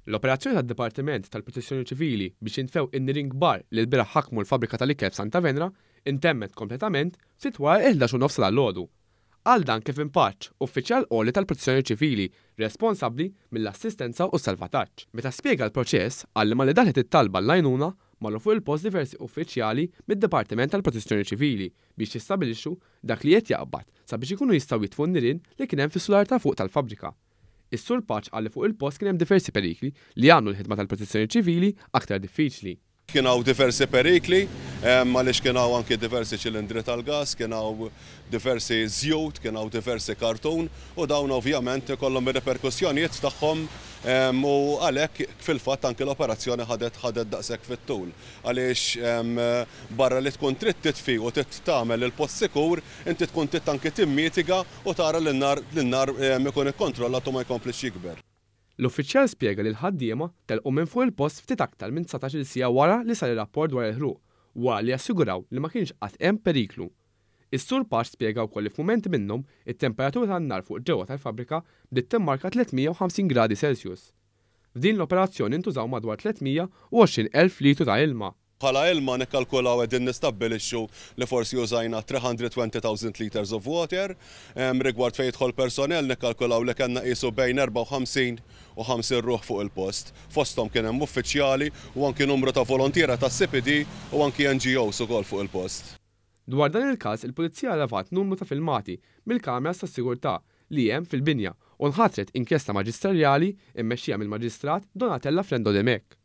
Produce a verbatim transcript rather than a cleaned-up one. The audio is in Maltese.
L-operazzjoni tad-Dipartiment tal-Protezzjoni Ċivili biex jintfew in-nirien kbar li lbieraħ ħakmu l-fabbrika tal-ikel f'Santa Venera intemmet kompletament ftit wara l-ħdax u nofs dalgħodu. Għal dan Kevin Pace, uffiċjal għoli tal-Protezzjoni Ċivili responsabbli mill-assistenza u s-salvataġġ. Meta spjega l-proċess, qal li malli daħlet it-talba l-għajnuna marru fuq il-post diversi uffiċjali mid-Dipartiment tal-Protezzjoni Ċivili biex jistabilixxu dak li qed jaqbad sabiex ikunu jistgħu jitfu n-nirien li kien hemm fis-sular ta' fuq tal-fabbrika. Is-Sur Pace qal li fuq il-post kien hemm diversi perikli li għamlu l-ħidma tal-Protezzjoni Ċivili aktar diffiċli. Kien hawn diversi perikli, għaliex kien hawn anki diversi ċilindri tal-gas, kien hawn diversi żjut, kien hawn diversi kartun u dawn ovvjament ikollhom ir-reperkussjonijiet tagħhom u għalhekk fil-fatt anki l-operazzjoni ħadet ħadet daqshekk fit-tul. Għaliex barra li tkun trid titfi u trid tagħmel il-post sikur, inti tkun trid anki timmitiga u tara li n-nar ikun ikkontrollat u ma jkomplix jikber. L-uffiċjal spjega li l-ħaddiema telqu minn fuq il-post ftit aktar minn dsatax-il siegħa wara li sar ir-rapport dwar il-ħruq, wara li assiguraw li ma kienx qatt hemm periklu. Is-Sur Pace spjega wkoll li f'mumenti minnhom it-temperatura tan-nar fuq ġewwa tal-fabbrika bdiet timmarka tliet mija u ħamsin gradi Celsius. F'din l-operazzjoni ntużaw madwar tliet mija u għoxrin elf litru ta' ilma. Bħala ilma nikkalkulaw qegħdin nistabbilixxu li forsi użajna three hundred twenty thousand liters of water. Em, rigward fejn jidħol personnel nikkalkulaw li kellna qisu bejn erbgħa u ħamsin u ħamsin ruħ fuq il-post. Fosthom kien hemm uffiċjali u anki numru ta' volontiera tas C P D u anki N G Os ukoll fuq il-post. Dwar dan il-każ, il-Pulizija levat numru ta' filmati mill-kameras tas-sigurtà li hemm fil-binja u nħatret inkjesta maġisterjali immexxija mill-Maġistrat Donatella Frendo Dimech.